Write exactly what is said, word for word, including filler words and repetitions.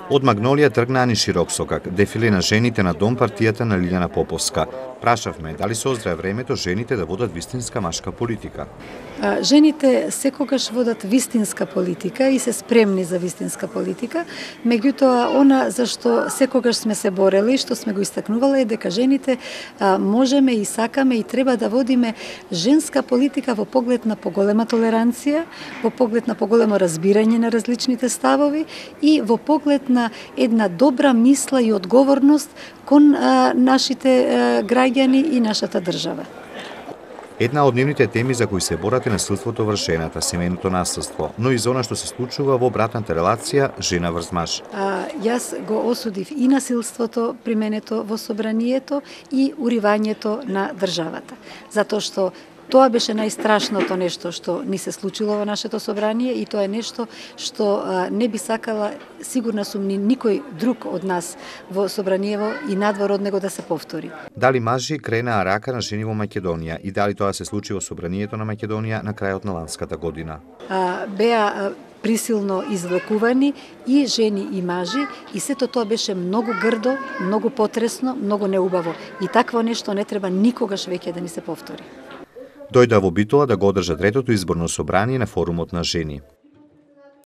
Од Магнолија тргнаа ни широк сокак, дефиле на жените на дом партијата на Лиљана Поповска. Прашавме дали се оздрае времето жените да водат вистинска машка политика. Жените секогаш водат вистинска политика и се спремни за вистинска политика, меѓутоа она за што секогаш сме се борели, што сме го истакнувале е дека жените можеме и сакаме и треба да водиме женска политика во поглед на поголема толеранција, во поглед на поголемо разбирање на различните ставови и во поглед на една добра мисла и одговорност кон а, нашите а, граѓани и нашата држава. Една од нивните теми за кои се борат е насилството врз жената, семејното насилство, но и за она што се случува во братната релација жена врз маж. А, јас го осудив и насилството применето во собранието и уривањето на државата, затоа што тоа беше најстрашното нешто што ни се случило во нашето собрание и тоа е нешто што а, не би сакала, сигурна сум, ни никој друг од нас во собраниево и надвор од него да се повтори. Дали мажи кренаа рака на жени во Македонија и дали тоа се случи во собранието на Македонија на крајот на ланската година? А, беа а, присилно извлекувани и жени и мажи и сето тоа беше многу грдо, многу потресно, многу неубаво и такво нешто не треба никогаш веќе да ни се повтори. Дојдоа во Битола да го одржа третото изборно собрание на форумот на жени.